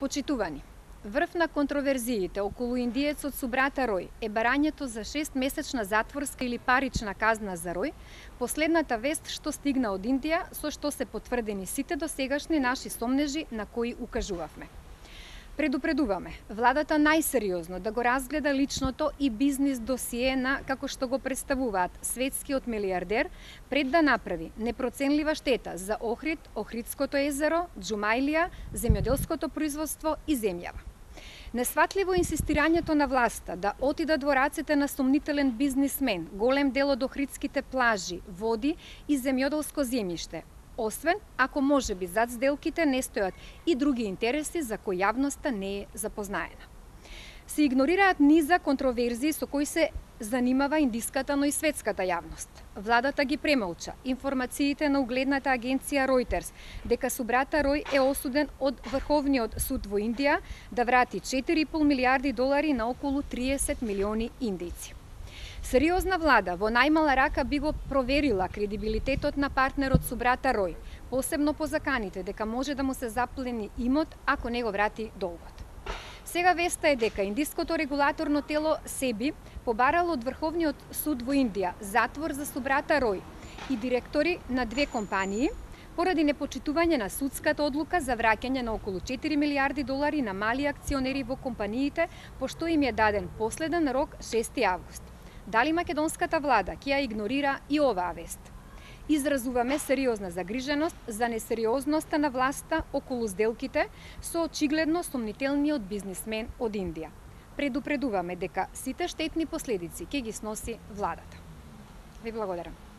Почитувани, врв на контроверзиите околу индиецот Субрата Рој е барањето за 6-месечна затворска или парична казна за Рој, последната вест што стигна од Индија, со што се потврдени сите досегашни наши сомнежи на кои укажувавме. Предупредуваме, владата најсериозно да го разгледа личното и бизнис досие на, како што го представуваат, светскиот милиардер, пред да направи непроценлива штета за Охрид, Охридското езеро, Џумаилија, земјоделското производство и земјава. Несватливо инсистирањето на власта да отидат во рацете на сомнителен бизнисмен голем дел од охридските плажи, води и земјоделско земјиште, освен ако можеби зад сделките не стојат и други интереси за кои јавноста не е запознаена. Се игнорираат низа контроверзии со кои се занимава индиската, но и светската јавност. Владата ги премолча информациите на угледната агенција Reuters дека Субрата Рој е осуден од Врховниот суд во Индија да врати 4,5 милиарди долари на околу 30 милиони индијци. Сериозна влада во најмала рака би го проверила кредибилитетот на партнерот Субрата Рој, посебно по заканите дека може да му се заплени имот ако не го врати долгот. Сега веста е дека индиското регулаторно тело СЕБИ побарало од Врховниот суд во Индија затвор за Субрата Рој и директори на две компании поради непочитување на судската одлука за враќање на околу 4 милиарди долари на мали акционери во компаниите, пошто им е даден последен рок 6 август. Дали македонската влада ќе ја игнорира и оваа вест? Изразуваме сериозна загриженост за несериозноста на власта околу сделките со очигледно сомнителниот бизнисмен од Индија. Предупредуваме дека сите штетни последици ќе ги сноси владата. Ви благодарам.